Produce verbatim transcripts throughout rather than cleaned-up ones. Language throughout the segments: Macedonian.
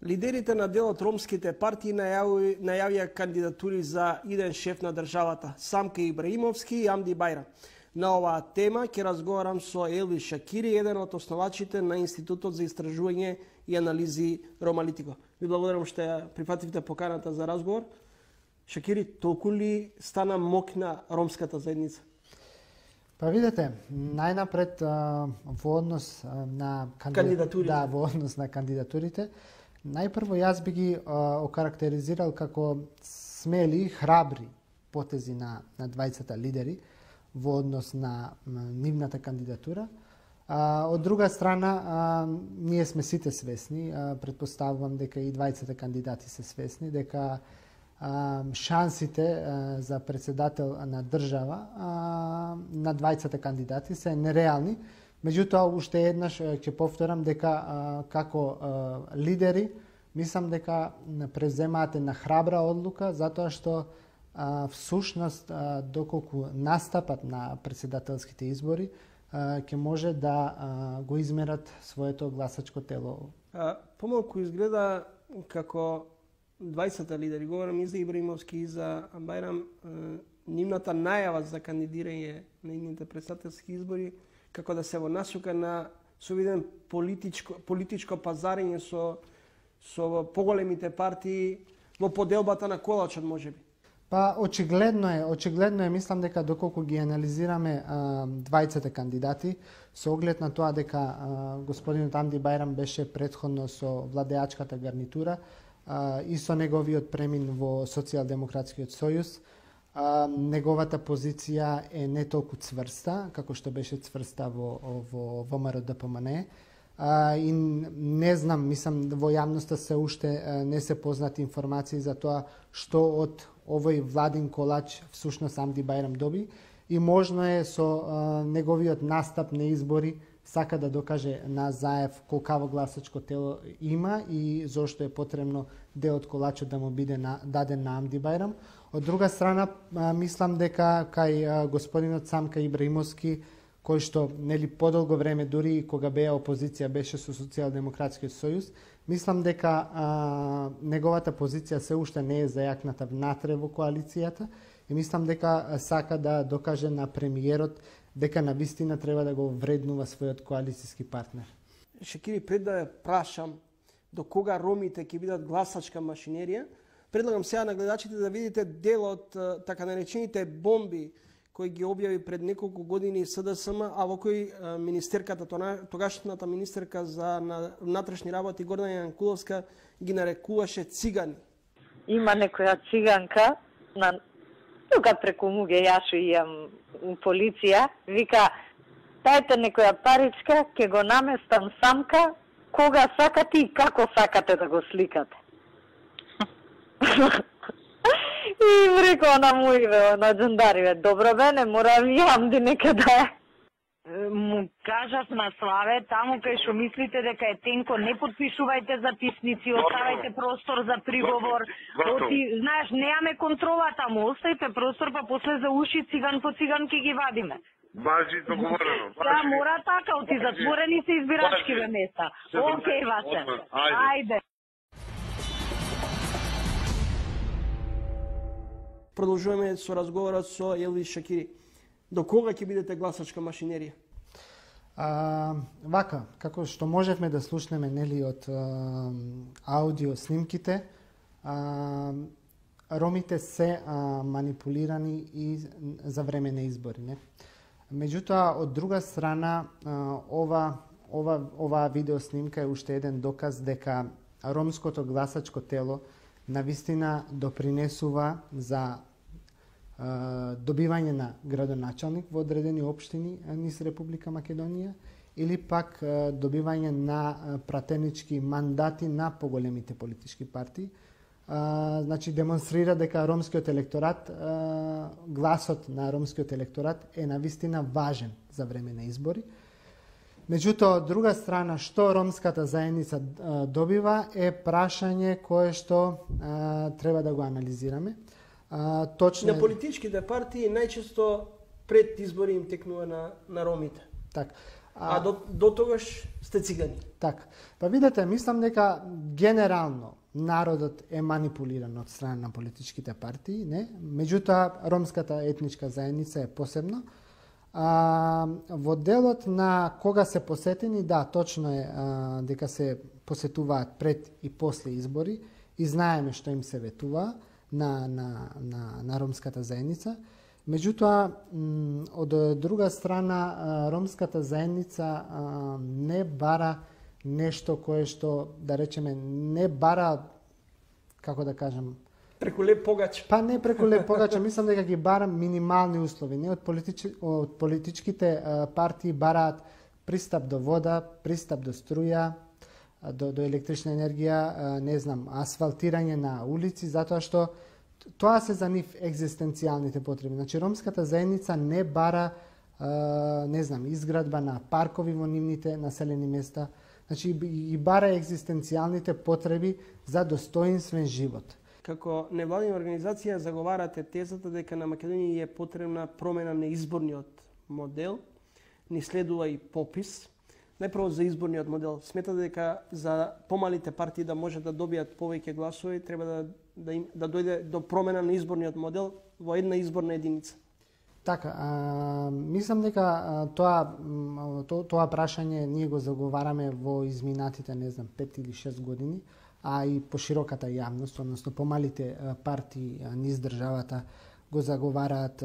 Лидерите на дел од ромските партии најави, најавија кандидатури за иден шеф на државата, Самка Ибраимовски и Амди Бајрам. На оваа тема ќе разговарам со Елвис Шакири, еден од основачите на Институтот за истражување и анализи Ромалитико. Ви благодарам што ја прифативте поканата за разговор. Шакири, толку ли стана мокна ромската заедница? Па видете, најнапред во однос на кандидатурите, да, во однос на кандидатурите, најпрво јас би ги а, окарактеризирал како смели, храбри потези на, на двајцата лидери во однос на, на нивната кандидатура. А, од друга страна, а, ние сме сите свесни, а, предпоставувам дека и двајцата кандидати се свесни, дека а, шансите а, за председател на држава а, на двајцата кандидати се нереални. Меѓутоа, уште еднаш ќе повторам дека а, како а, лидери, мислам дека преземаат една храбра одлука, затоа што а, всушност, а, доколку настапат на председателските избори, ќе може да а, го измерат своето гласачко тело. А, помалку изгледа како двајцата лидери, говорам и за Ибраимовски и за Бајрам, нивната најава за кандидирање на идните председателски избори, како да се во насока на совиден политичко, политичко пазарење со, со поголемите партии во поделбата на колачот, можеби. Па очигледно е, очигледно е, мислам дека доколку ги анализираме а, двајцата кандидати, со оглед на тоа дека а, господинот Амди Бајрам беше претходно со владеачката гарнитура а, и со неговиот премин во Социјалдемократскиот сојуз, а, неговата позиција е не толку цврста, како што беше цврста во, во ВМРО-ДПМНЕ. А, и не знам, мислам, во јавноста се уште а, не се познати информации за тоа што од овој владин колач всушност Амди Бајрам доби и можно е со а, неговиот настап на избори сака да докаже на Заев колкаво гласачко тело има и зошто е потребно дел од колачот да му биде на, даден на Амди Бајрам. Од друга страна, а, мислам дека кај а, господинот Самка Ибраимовски, кој што нели подолго време, дури и кога беа опозиција, беше со Социјалдемократскиот сојуз, мислам дека а, неговата позиција се уште не е зајакната внатре во коалицијата и мислам дека сака да докаже на премиерот дека на вистина треба да го вреднува својот коалицијски партнер. Шакири, пред да ја прашам до кога ромите ќе бидат гласачка машинерија, предлагам сега на гледачите да видите дел од така наречените бомби кој ги објави пред неколку години СДСМ, а во кој министерката, тогашната министерка за внатрешни работи Гордана Јанкуловска ги нарекуваше цигани. Има некоја циганка, на тука преку Муге Јашо иам полиција, вика, тајте некоја паричка, ќе го наместам Самка, кога сакате и како сакате да го сликате. И им рекоа на моиве, на джандариве, добро бе, не мора ви Амди некаде. Му кажав на Славе, таму кај што мислите дека е тенко, не подпишувајте записници, оставајте простор за приговор. Оти, знаеш, неаме контрола таму, оставите простор, па после за уши циган по циган ке ги вадиме. Бажи договорено. Да, мора така, оти затворени се избирачкиве места. Океј, Васе. Ајде. Продолжуваме со разговорот со Елвис Шакири. До кога ќе бидете гласачка машинерија? А, вака, како што можевме да слушнеме нели од а, аудио снимките, а, ромите се а, манипулирани и за време на избори, не? Меѓутоа, од друга страна, а, ова ова оваа видео снимка е уште еден доказ дека ромското гласачко тело навистина допринесува за добивање на градоначалник во одредени општини низ Република Македонија или пак добивање на пратенички мандати на поголемите политички партии. Значи демонстрира дека ромскиот електорат, гласот на ромскиот електорат е навистина важен за време на избори. Меѓутоа, од друга страна, што ромската заедница добива е прашање кое што а, треба да го анализираме. А, точно на политичките партии најчесто пред избори им текнува на, на ромите. Так. А, а до, до тогаш сте цигани. Така. Па видете, мислам дека генерално народот е манипулиран од страна на политичките партии, не? Меѓутоа ромската етничка заедница е посебно. А, во делот на кога се посетени, да, точно е а, дека се посетуваат пред и после избори и знаеме што им се ветува на, на, на, на ромската заедница. Меѓутоа, од друга страна, ромската заедница не бара нешто кое што, да речеме, не бара, како да кажам, преку леп погач. Па не преку леп погач, мислам дека ги бара минимални услови. Не од, политич... од политичките партии бараат пристап до вода, пристап до струја, до, до електрична енергија, не знам, асфалтирање на улици, затоа што тоа се за нив екзистенцијалните потреби. Значи, ромската заедница не бара, не знам, изградба на паркови во нивните населени места. Значи, и бара екзистенцијалните потреби за достоинствен живот. Како невладина организација заговарате тезата дека на Македонија е потребна промена на изборниот модел, ни следува и попис. Најпрво за изборниот модел. Сметате дека за помалите партии да можат да добијат повеќе гласови, треба да, да, им, да дојде до промена на изборниот модел во една изборна единица. Така, а, мислам дека а, тоа, то, тоа прашање ние го заговараме во изминатите, не знам, пет или шест години, а и по широката јавност, односно помалите партии низ државата го заговараат,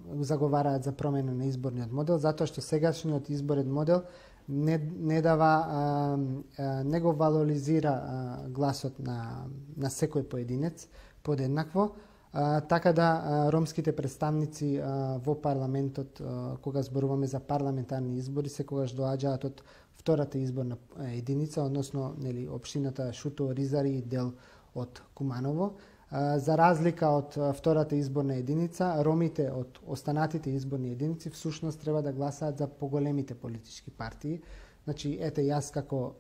го заговараат за промена на изборниот модел, затоа што сегашниот изборен модел не, не дава, а, а, не го валоризира а, гласот на, на секој поединец подеднакво, а, така да а, ромските представници а, во парламентот, а, кога зборуваме за парламентарни избори, секогаш доаѓаат од втората изборна единица, односно нели општината Шуто, Ризари и дел од Куманово. За разлика од втората изборна единица, ромите од останатите изборни единици всушност треба да гласаат за поголемите политички партии. Значи, ете, јас како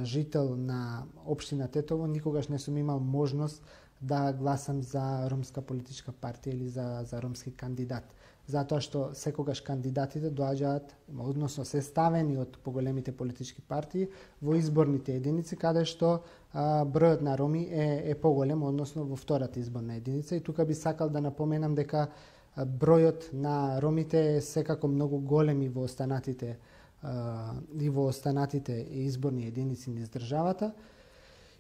жител на општина Тетово никогаш не сум имал можност да гласам за ромска политичка партија или за, за ромски кандидат. Затоа што секогаш кандидатите доаѓаат, односно се ставени од поголемите политички партии во изборните единици, каде што а, бројот на роми е, е поголем, односно во втората изборна единица. И тука би сакал да напоменам дека а, бројот на ромите е секако многу голем и во останатите, а, и во останатите изборни единици низ државата.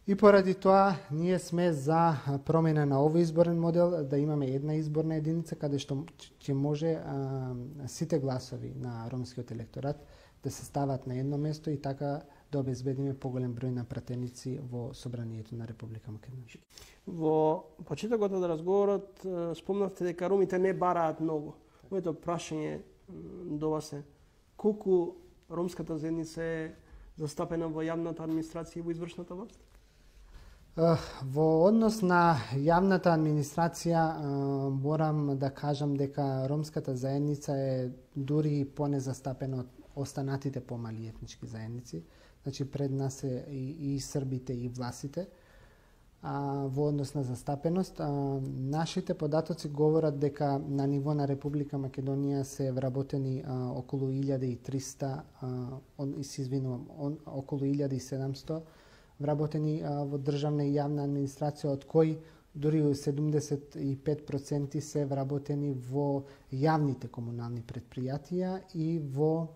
И поради тоа ние сме за промена на овој изборен модел, да имаме една изборна единица каде што ќе може а, сите гласови на ромскиот електорат да се стават на едно место и така да обезбедиме поголем број на пратеници во собранието на Република Македонија. Во почетокот од разговорот спомнавте дека ромите не бараат многу. Моето прашање до вас е колку ромската заедница е застапена во јавната администрација и во извршната власт? Во однос на јавната администрација морам да кажам дека ромската заедница е дури понезастапена од останатите помали етнички заедници. Значи пред нас е и, и србите и власите. А, во однос на застапеност, а, нашите податоци говорат дека на ниво на Република Македонија се вработени а, околу илјада и триста, а, он, се извинувам, он, околу илјада и седумсто вработени а, во државна и јавна администрација, од кои дури седумдесет и пет проценти се вработени во јавните комунални предпријатија и во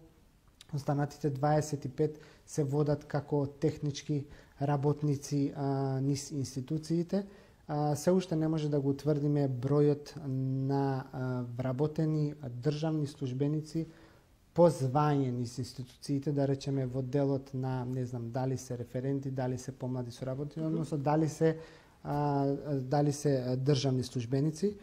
останатите дваесет и пет се водат како технички работници а, низ институциите. А, се уште не може да го утврдиме бројот на а, вработени државни службеници по звање низ институциите, да речеме во делот на, не знам, дали се референти, дали се помлади соработници, односно дали се а, дали се државни службеници.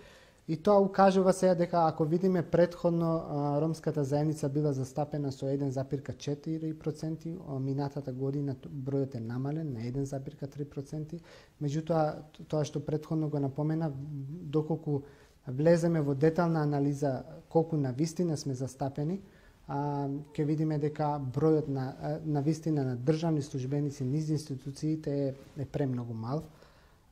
И тоа укажува сега дека ако видиме претходно а, ромската заедница била застапена со еден запир четири проценти, минатата година бројот е намален на еден запир три проценти. Меѓутоа, тоа што претходно го напомена, доколку влеземе во детална анализа колку на вистина сме застапени, а, ќе видиме дека бројот на, на вистина на државни службеници низ институциите е, е премногу мал.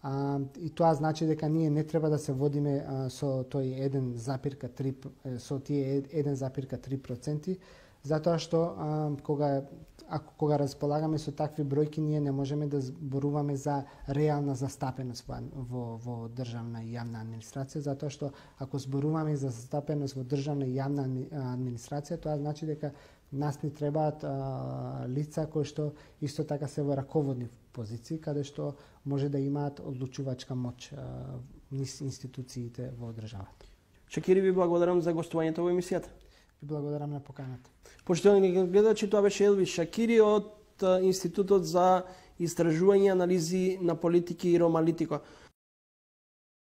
А, и тоа значи дека ние не треба да се водиме а, со тој еден запир три, со тие еден запир три проценти, затоа што а, кога ако кога располагаме со такви бројки, ние не можеме да зборуваме за реална застапеност во, во, во државна и јавна администрација, затоа што ако зборуваме за застапеност во државна и јавна администрација, тоа значи дека нас ни требаат а, лица кои што исто така се во раководни позиции, каде што може да имаат одлучувачка моќ а, низ институциите во државата. Шакири, ви благодарам за гостувањето во емисијата. Ви благодарам на поканата. Почитувани гледачи, тоа беше Елвис Шакири од Институтот за истражување и анализи на политики и Ромалитико.